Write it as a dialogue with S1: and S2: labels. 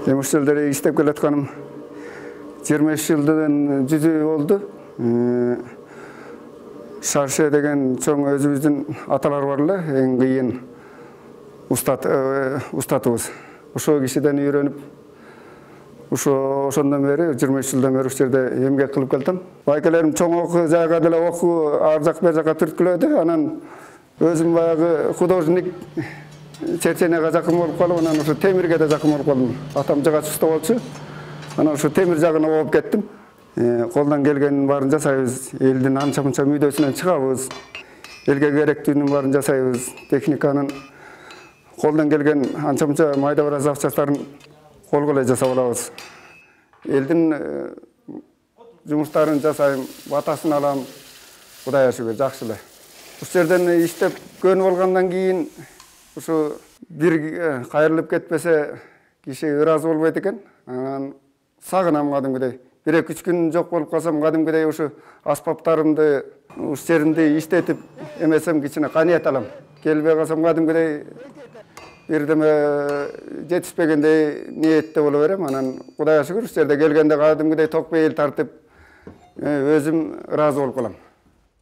S1: Жумуш жылдары иштеп келатканым 23 жылдан жүзүү болду. Шарше деген чоң өзүбүздүн аталар бар эле, эң кыйын устатыбыз. Ошол кишиден үйрөнүп, ошондон бери 23 жылдан бери ушул жерде эмгек кылып келдим. Байкелерим чоң окуу жайга деле окуу ар жак бер жакка түрткүлөдү. Анан өзүм баягы художник чеченеге жакын болуп калып, анан ошо темирге да жакын болуп калдым. Атам жыгач уста болчу. Анан ошо темир жагына болуп кеттим. Колдон келгенин баарын жасайбыз. Элдин анча-мынча мүйдөсүнөн чыгабыз. Элге керектүүнүн баарын жасайбыз. Техниканын колдон келген анча-мынча майда-бара запчастарын колго эле жасап алабыз. Элдин жумуштарын жасайм, батасын алам. Кудайга шүгүр, жакшы эле. Ушул жерден иштеп көнүп алгандан кийин ушу бир кайрылып кетпесе киши ыраазы болбойт экен. Анан сагынам кадимкидей. 1-2 күн жок болуп калсам, кадимкидей ушу аспаптарымды, ушул жеримди иштетип эмесем кичине каныят алам. Келбей калсам, кадимкидей бирдеме жетишпегендей ниетте боло берем. Анан Кудайга шүгүр, ушул жерде келгенде кадимкидей ток бейил тартып өзүм ыраазы болуп калам.